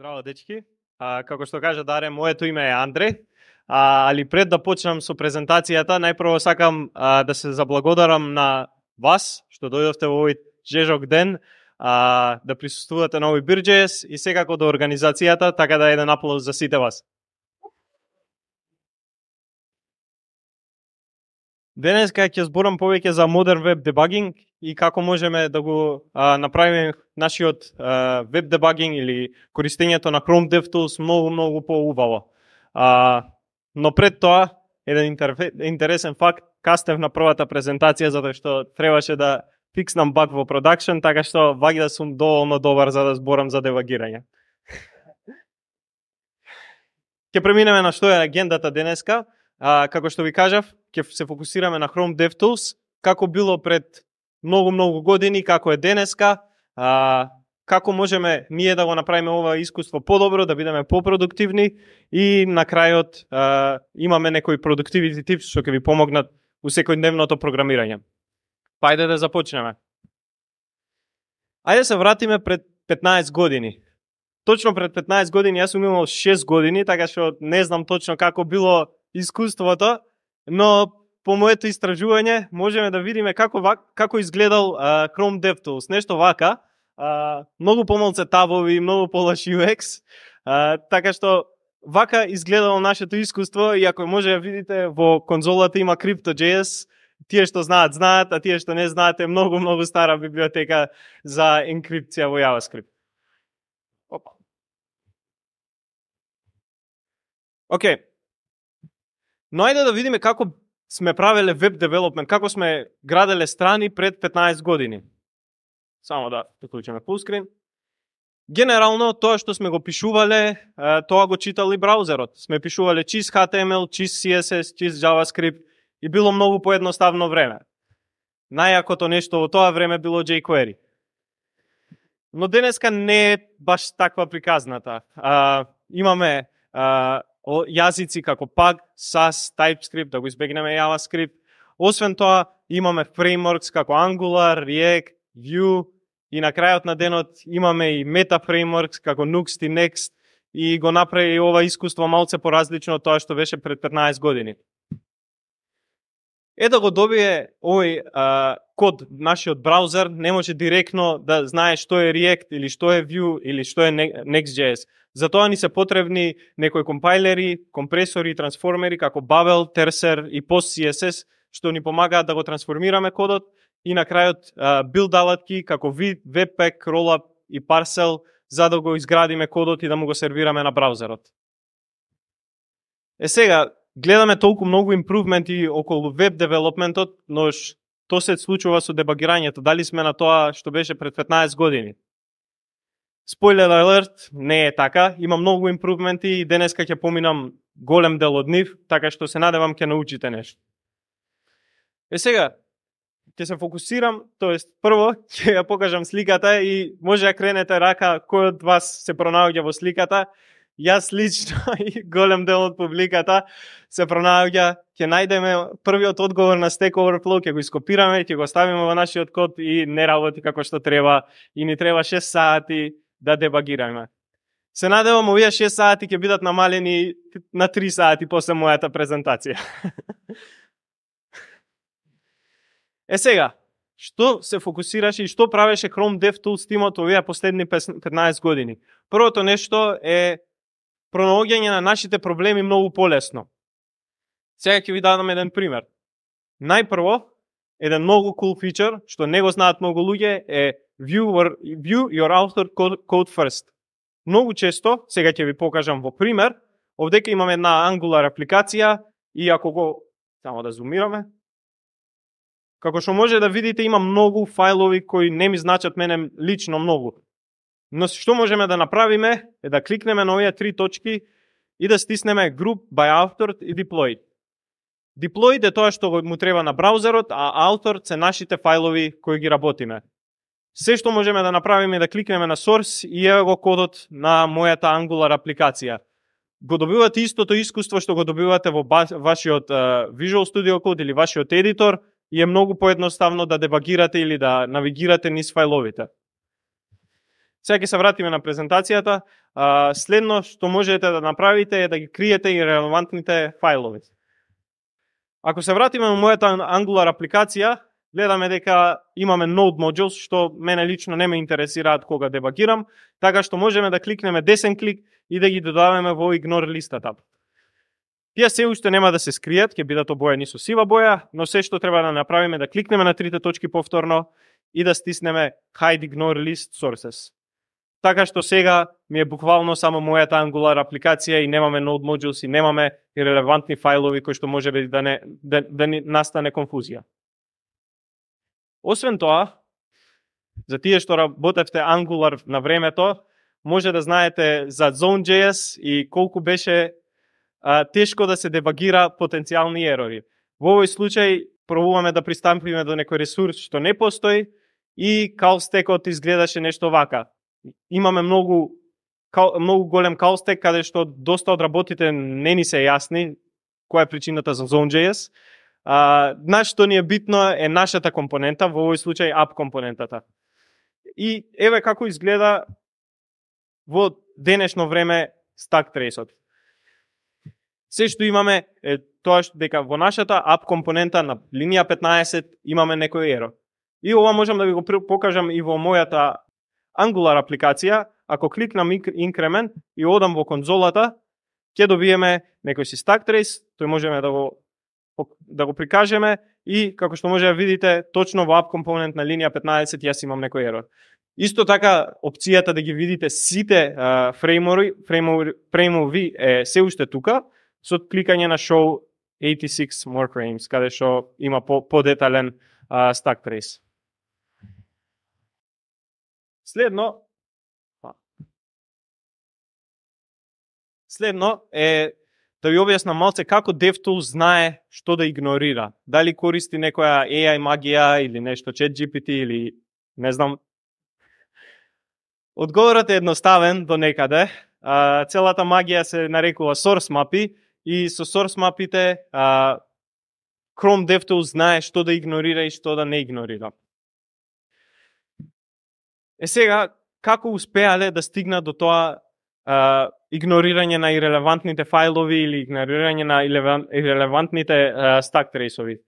Здраво, дечки. Како што кажа Даре, моето име е Андре. Али пред да почнам со презентацијата, најпрво сакам да се заблагодарам на вас што дојдовте во овој жежок ден да присуствувате на овој Бирџеес и секако до организацијата, така да еден аплауз за сите вас. Денеска ќе зборам повеќе за Modern Web Debugging и како можеме да го направиме нашиот веб дебагинг или користењето на Chrome DevTools многу поубаво. Но пред тоа, еден интересен факт, кастев на првата презентација затоа што требаше да фикснам баг во продакшн, така што ваѓа да сум доволно добар за да зборам за дебагирање. Ќе преминеме на што е агендата денеска. Како што ви кажав, ќе се фокусираме на Chrome DevTools, како било пред многу години, како е денеска, како можеме ние да го направиме ова искуство подобро, да бидеме попродуктивни и на крајот имаме некои productivity tips што ќе ви помогнат у секојдневното програмирање. Па ајде да започнеме. Ајде се вратиме пред 15 години. Точно пред 15 години, јас сум имал 6 години, така што не знам точно како било искуството, но по моето истражување можеме да видиме како изгледал Chrome DevTools. Нешто вака, многу помалце табови, многу полош UX, така што вака изгледало нашето искуство и ако може да видите во конзолата има Crypto.js, тие што знаат, а тие што не знаат е многу стара библиотека за енкрипција во JavaScript. Опа. Океј. Но ајде да видиме како сме правеле веб девелопмент, како сме граделе страни пред 15 години. Само да приклучиме фулскрин. Генерално тоа што сме го пишувале, тоа го читал и браузерот. Сме пишувале чист HTML, чист CSS, чист JavaScript и било многу поедноставно време. Најакото нешто во тоа време било jQuery. Но денеска не е баш таква приказната. Имаме јазици како Pug, Sass, TypeScript, да го избегнеме JavaScript. Освен тоа, имаме фреймворкс како Angular, React, Vue и на крајот на денот имаме и Meta фреймворкс како Nuxt и Next и го направи ова искуство малце поразлично од тоа што беше пред 15 години. Да го добие овој код нашиот браузер, не може директно да знае што е React или што е Vue или што е Next.js. Затоа ни се потребни некои компајлери, компресори и трансформери како Babel, Terser и PostCSS што ни помагаат да го трансформираме кодот и на крајот билд алатки како Webpack, Rollup и Parcel за да го изградиме кодот и да му го сервираме на браузерот. Сега гледаме толку многу импрувменти околу веб девелопментот, но што се случува со дебагирањето? Дали сме на тоа што беше пред 15 години? Спойлер алерт, не е така. Има многу импрувменти и денеска ќе поминам голем дел од нив, така што се надевам ќе научите нешто. Сега ќе се фокусирам, тоест прво ќе ја покажам сликата и може да кренете рака кој од вас се пронаоѓа во сликата. Јас лично и голем дел од публиката се пронаоѓа, ќе најдеме првиот одговор на Stack Overflow, ќе го ископираме, ќе го ставиме во нашиот код и не работи како што треба и ни треба 6 сати да дебагираме. Се надевам овие 6 сати ќе бидат намалени на 3 сати после мојата презентација. Сега, што се фокусираше и што правеше Chrome DevTools тимот овие последни 15 години? Првото нешто е пронаоѓање на нашите проблеми многу полесно. Сега ќе ви дадам еден пример. Најпрво, еден многу cool фичер, што не го знаат многу луѓе, е View your author code first. Многу често, сега ќе ви покажам во пример, овдека имаме една Angular апликација и ако го, само да зумираме, како што може да видите има многу фајлови кои не ми значат мене лично многу. Но што можеме да направиме е да кликнеме на овие 3 точки и да стиснеме Group by Author и Deployed. Deployed е тоа што му треба на браузерот, а Author се нашите фајлови кои ги работиме. Се што можеме да направиме е да кликнеме на Source и ево го кодот на мојата Angular апликација. Го добивате истото искуство што го добивате во вашиот Visual Studio Code или вашиот едитор и е многу поедноставно да дебагирате или да навигирате низ фајловите. Сега ќе се вратиме на презентацијата. Следно што можете да направите е да ги криете и релевантните фајлови. Ако се вратиме на мојата Angular апликација, гледаме дека имаме Node modules, што мене лично не ме интересираат кога дебагирам, така што можеме да кликнеме десен клик и да ги додаваме во Ignore листата. Тие се уште нема да се скријат, ќе бидат обоени со сива боја, но се што треба да направиме да кликнеме на трите точки повторно и да стиснеме Hide Ignore List Sources. Така што сега ми е буквално само мојата Angular апликација и немаме Node modules и немаме и релевантни фајлови кои што може би да ни настане конфузија. Освен тоа, за тие што работевте Angular на времето, може да знаете за Zone.js и колку беше тешко да се дебагира потенцијални ерори. Во овој случај пробуваме да пристапиме до некој ресурс што не постои и call stack-от изгледаше нешто вака. Имаме многу голем call stack каде што доста од работите не ни се јасни која е причината за Zone.js. Што ни е битно е нашата компонента, во овој случај app компонентата. И еве како изгледа во денешно време stack trace-от. Се што имаме е тоа што дека во нашата app компонента на линија 15 имаме некој ерор. И ова можам да ви го покажам и во мојата Angular апликација. Ако кликнам increment и одам во конзолата, ќе добиеме некој си stack trace, тој можеме да го прикажеме и како што може да видите, точно во app компонент на линија 15 јас имам некој ерор. Исто така, опцијата да ги видите сите фреймови е се уште тука, со кликање на Show 86 more frames, каде што има подетален stack trace. Следно е да ви објаснам малце како DevTools знае што да игнорира. Дали користи некоја AI магија или нешто ChatGPT или не знам. Одговорот е едноставен до некаде. Целата магија се нарекува source мапи и со source мапите Chrome DevTools знае што да игнорира и што да не игнорира. Сега, како успеале да стигнат до тоа игнорирање на ирелевантните фајлови или игнорирање на ирелевантните stack trace-ови?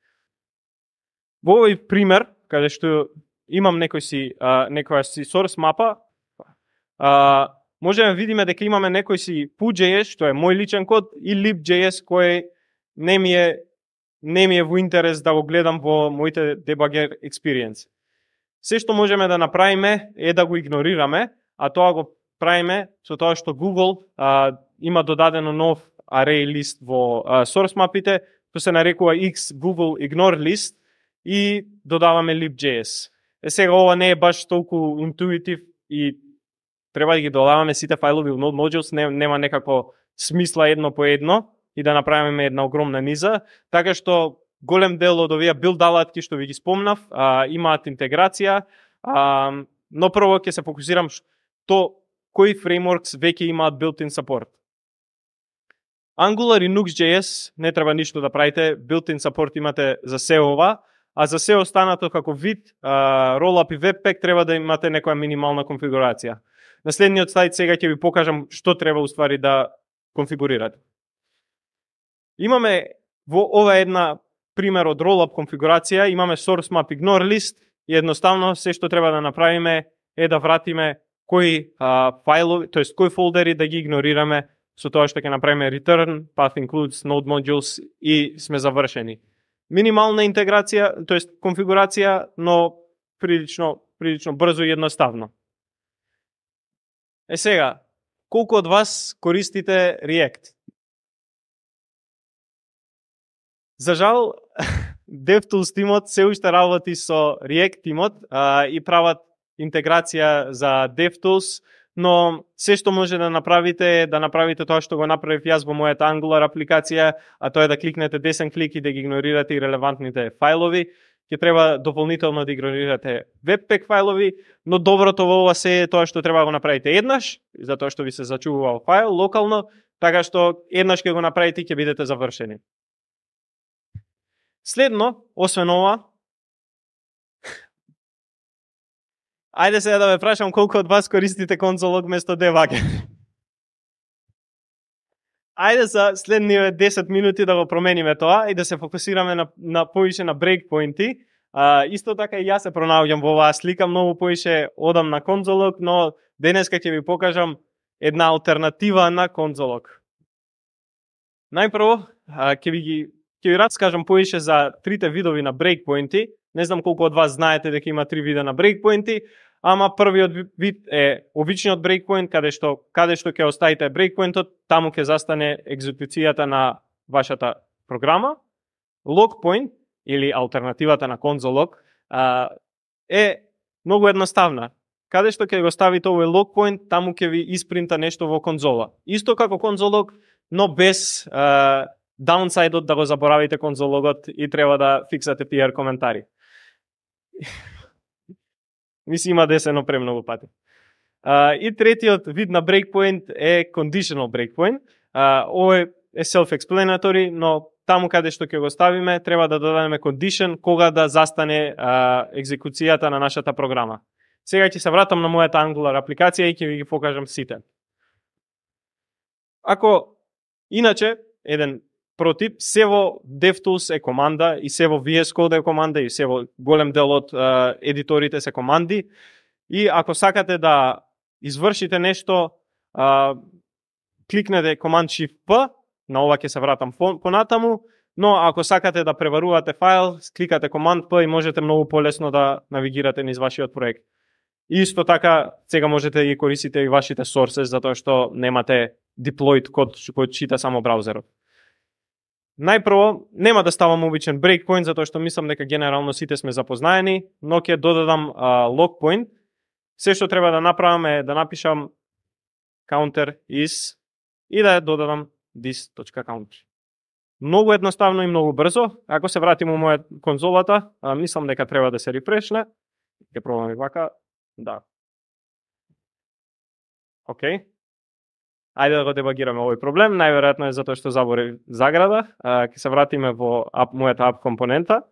Во овој пример, каде што имам некоја си source мапа, можеме да видиме дека имаме некој си Poo.js, што е мој личен код, и Lib.js, кој не ми е во интерес да го гледам во моите debugger experience. Се што можеме да направиме е да го игнорираме, а тоа го правиме со тоа што Google има додадено нов array list во source мапите, што се нарекува X Google Ignore List и додаваме Lib.js. Сега ова не е баш толку интуитив и треба да ги додаваме сите фајлови во Node modules, нема некако смисла едно по едно и да направиме една огромна низа, така што голем дел од овие билд алатки што ви ги спомнав имаат интеграција, но прво ќе се фокусирам кои фреймворкс веќе имаат built-in support. Angular и Nux.js не треба ништо да правите, built-in support имате за се ова, а за се останато како вид, Rollup и Webpack треба да имате некоја минимална конфигурација. На следниот слайд сега ќе ви покажам што треба уствари да конфигурирате. Имаме во ова една пример од Rollup конфигурација, имаме source map ignore list и едноставно се што треба да направиме е да вратиме кои фајлови, тоест кои фолдери да ги игнорираме со тоа што ќе направиме return, path includes, node modules и сме завршени. Минимална интеграција, тоест конфигурација, но прилично брзо и едноставно. Сега, колку од вас користите React? За жал, DevTools тимот се уште работи со React тимот и прават интеграција за DevTools, но се што може да направите е да направите тоа што го направив јас во мојата Angular апликација, а тоа е да кликнете десен клик и да ги игнорирате релевантните фајлови. Ќе треба дополнително да игнорирате Webpack фајлови, но доброто во ова се е тоа што треба да го направите еднаш, затоа што ви се зачувува фајл локално, така што еднаш ќе го направите и ќе бидете завршени. Следно, освен ова, Ајде сега да ве прашам колку од вас користите конзолог место дебаг. Ајде за следниве 10 минути да го промениме тоа и да се фокусираме на повише на брейкпоинти. Исто така и јас се пронаоѓам во оваа слика, многу повише одам на конзолог, но денеска ќе ви покажам една алтернатива на конзолог. Најпрво ќе ви раскажам повише за трите видови на брейкпоинти. Не знам колку од вас знаете дека има три вида на брейкпоинти, ама првиот вид е обичниот брейкпоинт, каде што ќе оставите брейкпоинтот, таму ќе застане екзекуцијата на вашата програма. Локпоинт или алтернативата на конзолог е многу едноставна. Каде што ќе го ставите овој локпоинт, таму ќе ви испринта нешто во конзола. Исто како конзолог, но без даунсайдот да го заборавите конзологот и треба да фиксате PR коментари. Мисли има десено премногу пати. И третиот вид на брейкпоинт е conditional breakpoint. Ово е self-explanatory, но таму каде што ќе го ставиме, треба да додадеме condition кога да застане екзекуцијата на нашата програма. Сега ќе се вратам на мојата Angular апликација и ќе ви ги покажам сите. Ако, иначе, еден протип, се во DevTools е команда и се во VS Code е команда и се во голем дел од едиторите се команди. И ако сакате да извршите нешто, кликнете Command Shift P, на ова ќе се вратам понатаму, но ако сакате да преварувате файл, кликате Command P и можете многу полесно да навигирате низ вашиот проект. Исто така, сега можете да ги користите и вашите sources, затоа што немате deployed код кој чита само браузерот. Најпрво, нема да ставам обичен breakpoint, затоа што мислам дека генерално сите сме запознаени, но ќе додадам logpoint. Се што треба да направам е да напишам counter is и да додадам this.counter. Многу едноставно и многу брзо. Ако се вратим у моја конзолата, мислам дека треба да се рефрешне. Ќе пробам и вака. Да. Океј. Ајде да го дебагираме овој проблем. Најверојатно е затоа што заборев заграда. Ќе се вратиме во мојата app компонента.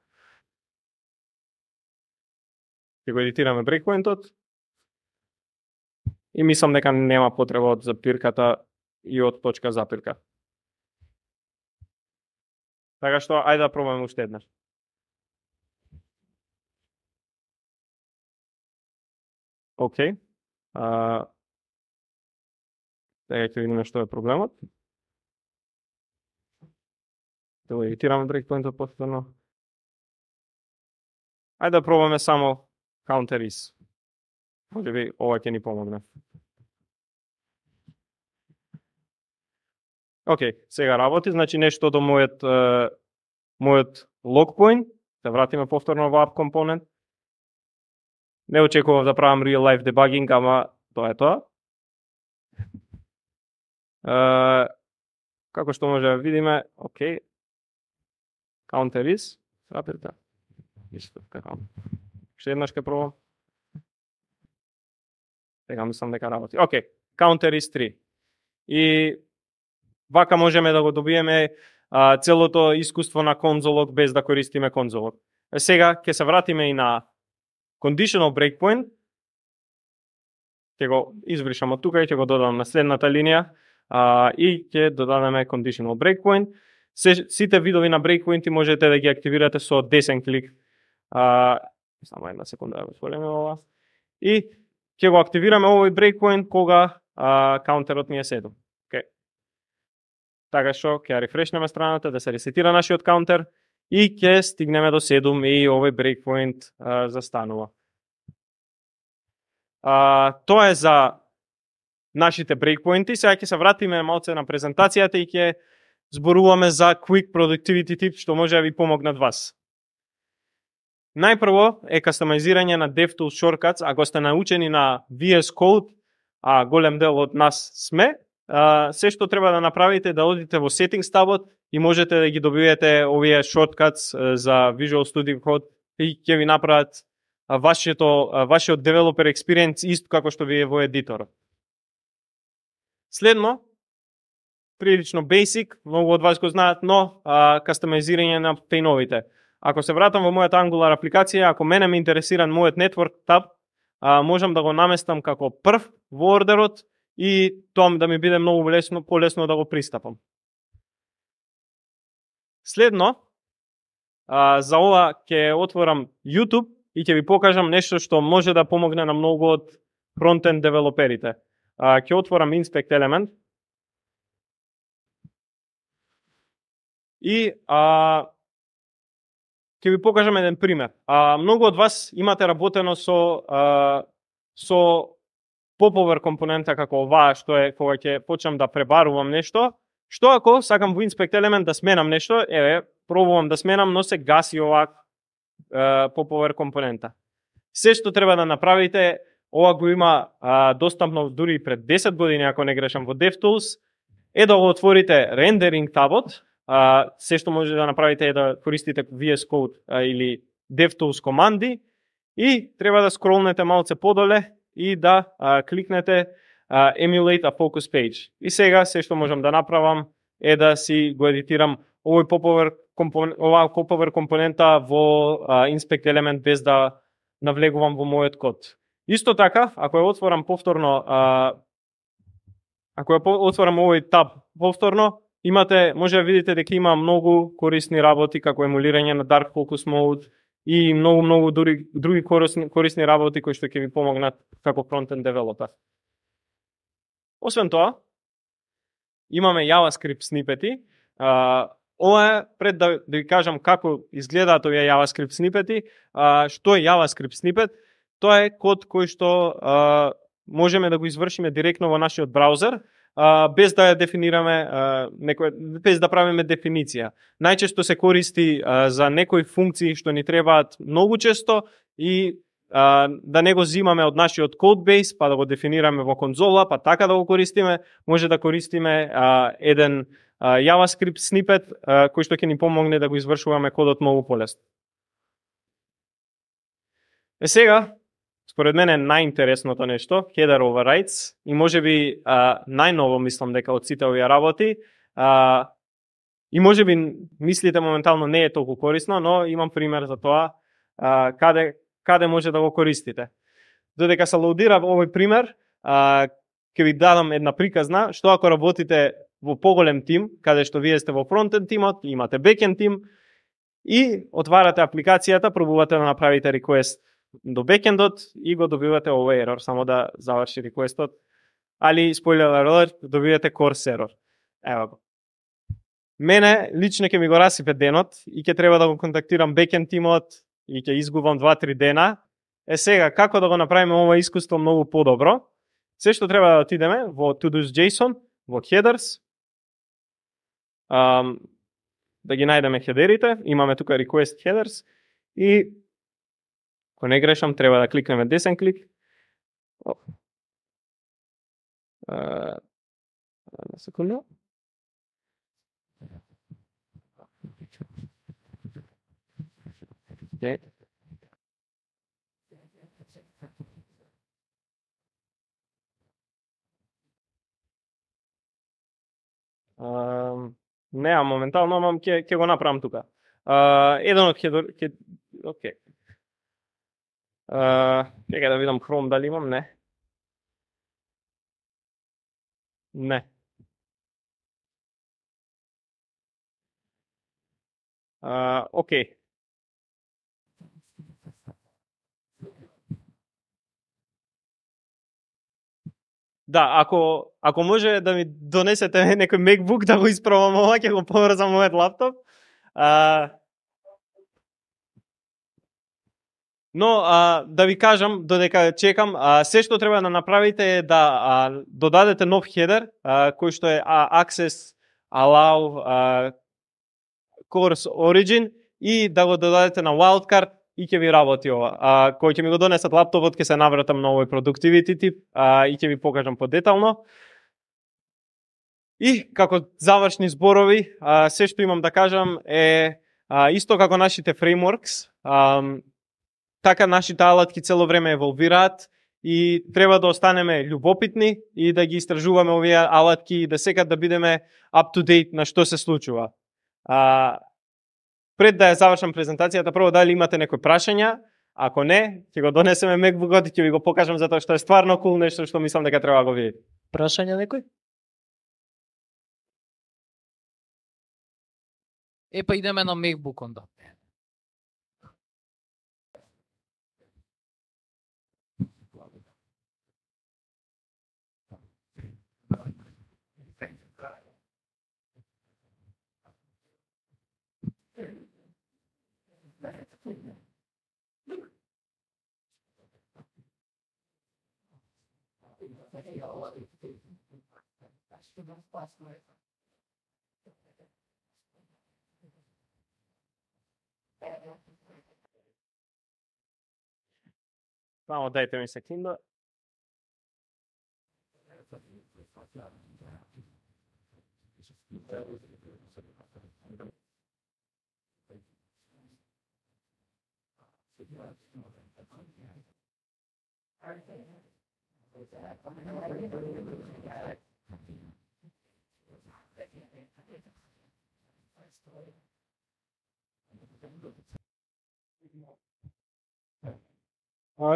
Ќе го едитираме брейкпоинтот. И мислам дека нема потреба од запирката и од точка запирка. Така што, ајде да пробаме уште еднаш. Океј. Сега ќе видиме што е проблемот. Да го едитираме брейкпоинтот повторно. Ајде да пробаме само counter is. Може би ова ќе ни помогне. Океј, сега работи, значи нешто до мојот logpoint. Се вратиме повторно во app компонент. Не очекував да правам real life debugging, ама тоа е тоа. Како што може да видиме, океј, counter is, запирка, исто така. Ше еднаш ке пробам. Сега мислам дека работи. Океј, counter is 3. И вака можеме да го добиеме целото искуство на конзолог без да користиме конзолог. Сега ќе се вратиме и на conditional breakpoint. Ќе го избришам од тука и ќе го додадам на следната линија. И ќе додадеме conditional breakpoint. Сите видови на breakpointi можете да ги активирате со десен клик. Само една секунда да го отвориме ова. И ќе го активираме овој breakpoint кога каунтерот ни е 7. Okay. Така што ќе рефрешнеме страната да се ресетира нашиот каунтер и ќе стигнеме до 7 и овој breakpoint застанува. Тоа е за нашите брейкпоинти. Сега ќе се вратиме малце на презентацијата и ќе зборуваме за Quick Productivity Tips што може да ви помогнат вас. Најпрво е кастомизирање на DevTools shortcuts. Ако сте научени на VS Code, а голем дел од нас сме, се што треба да направите е да одите во Settings табот и можете да ги добиете овие shortcuts за Visual Studio Code и ќе ви направат вашиот developer experience исто како што ви е во едиторот. Следно, прилично basic, многу од вас го знаат, но кастомизирање на пейновите. Ако се вратам во мојата Angular апликација, ако мене ме интересира мојот network таб, можам да го наместам како прв во ордерот и тоа да ми биде многу полесно да го пристапам. Следно, за ова ќе отворам YouTube и ќе ви покажам нешто што може да помогне на многу од фронтенд девелоперите. Ќе отворам Inspect Element и ќе ви покажам еден пример. Многу од вас имате работено со popover компонента како оваа, што е кога ќе почнам да пребарувам нешто. Што ако сакам во Inspect Element да сменам нешто, пробувам да сменам, но се гаси оваа popover компонента. Се што треба да направите, ова го има достапно дури пред 10 години, ако не грешам, во DevTools, е да го отворите Rendering табот. Се што може да направите е да користите VS Code или DevTools команди и треба да скролнете малце подоле и да кликнете Emulate a Focus Page. И сега се што можам да направам е да си го едитирам овој popover компонента во Inspect Element без да навлегувам во мојот код. Исто така, ако ја отворам повторно, ако ја отворам овој таб повторно, може да видите дека има многу корисни работи како емулирање на Dark Focus Mode и многу други корисни работи кои што ќе ви помогнат како фронтенд девелопер. Освен тоа, имаме JavaScript снипети. Ова е пред да ви кажам како изгледаат овие JavaScript снипети. Што е JavaScript снипет? Тоа е код кој што можеме да го извршиме директно во нашиот браузер, без да ја дефинираме без да правиме дефиниција. Најчесто се користи за некои функции што ни требаат многу често и да не го зимаме од нашиот кодбейс, па да го дефинираме во конзола, па така да го користиме, може да користиме еден JavaScript снипет кој што ќе ни помогне да го извршуваме кодот многу полесно. Сега, според мене најинтересното нешто, header overrides, и можеби најново мислам дека од сите овие работи, и можеби мислите моментално не е толку корисно, но имам пример за тоа каде може да го користите. Додека се лоудира овој пример, ќе ви дадам една приказна, што ако работите во поголем тим, каде што вие сте во фронтенд тимот, имате бекенд тим, и отварате апликацијата, пробувате да направите request до бекендот и го добивате овој ерор, само да заврши requestот. Али, spoiler alert, добивате course error. Ево го. Мене лично ќе ми го расипе денот и ќе треба да го контактирам бекенд тимот и ќе изгубам 2-3 дена. Сега, како да го направиме ова искуство многу подобро? Се што треба да отидеме во to-dos.json, во headers, да ги најдеме хедерите, имаме тука request headers и ако не грешам, треба да кликнеме десен клик. На секунда. Okay. Не, моментално, но ќе го направам тука. Еден од хедер... Окей. Чекај да видам Chrome дали имам, не. Не. Окей. Да, ако може да ми донесете некој MacBook да го испробам ова, ќе го поврзам мојот лаптоп. Но да ви кажам, додека чекам, се што треба да направите е да додадете нов хедер, кој што е access allow course origin и да го додадете на wildcard и ќе ви работи ова. Кој ќе ми го донесат лаптопот, ќе се навратам на овој productivity тип и ќе ви покажам подетално. И како завршни зборови, се што имам да кажам е исто како нашите frameworks, така нашите алатки цело време еволвираат и треба да останеме љубопитни и да ги истражуваме овие алатки и да секад да бидеме up to date на што се случува. Пред да ја завршам презентацијата, прво дали имате некои прашања, Ако не, ќе го донесеме MacBook-от и ќе ви го покажам затоа што е стварно кул нешто што мислам дека треба да го видите. Прашање некој? Па идеме на MacBook онда. Само дајте ми секунда.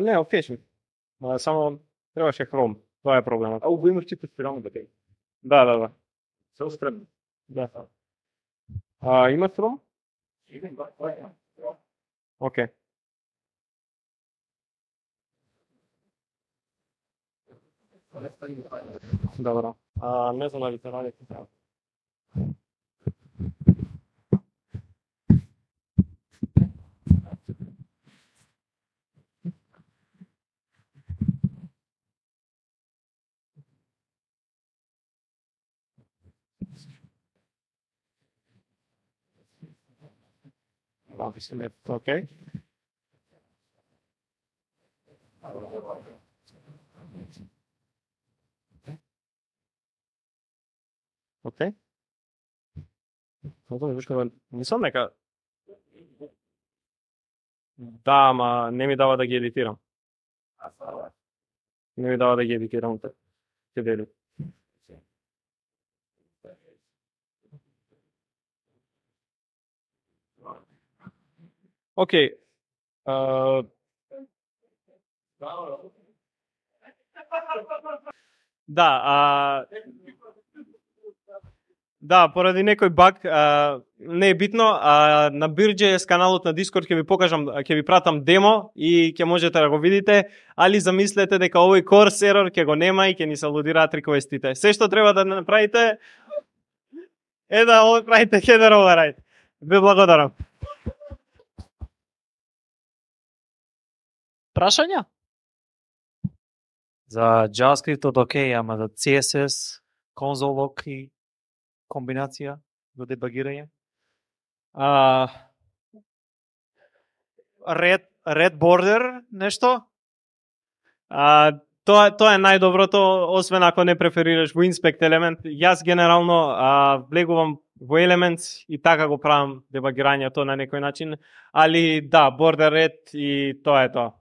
Не, окей сме. Само требаше Chrome. Тоа е проблемот. А го имаш чипот спирално батерија? Да. Се острем. Да. Има Chrome? Окей. Добро. Не знам дали се ради така. Окей. Окей. Мислам дека да, ама не ми дава да ги едитирам. Не ми дава да ги едитирам. Ќе дели. Окей. Да, поради некој баг, не е битно, на Beer.js каналот на Discord ќе ви покажам, ќе ви пратам демо и ќе можете да го видите, али замислете дека овој course error ќе го нема и ќе ни се лудираат реквестите. Се што треба да направите е да правите header override. Ви благодарам. Прашања? За JavaScript окей, ама за CSS, console lock и комбинација за дебагирање? Red border нешто? Тоа е најдоброто, освен ако не преферираш во Inspect елемент. Јас генерално влегувам во Elements и така го правам дебагирањето на некој начин, али да, border red и тоа е тоа.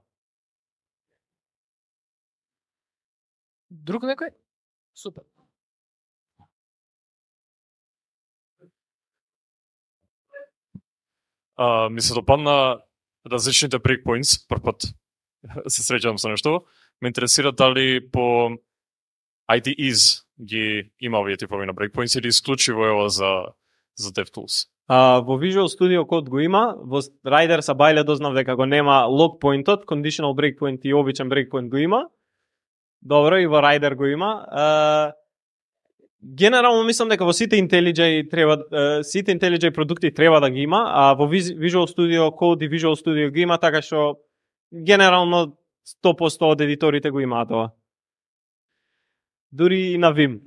Друг некој? Супер. Ми се допадна различните breakpoints, прв пат се среќавам со нешто. Ме интересира дали по IDEs ги има овие типови на breakpoints или исклучиво е ова за DevTools? Во Visual Studio Code го има, во Rider са бајле дознав дека го нема log point-от, conditional breakpoint и обичен breakpoint го има. Добро, и во Rider го има. Генерално мислам дека во сите IntelliJ продукти треба да ги има, а во Visual Studio Code и Visual Studio ги има, така што генерално 100% од едиторите го имаат ова. Дури и на Vim.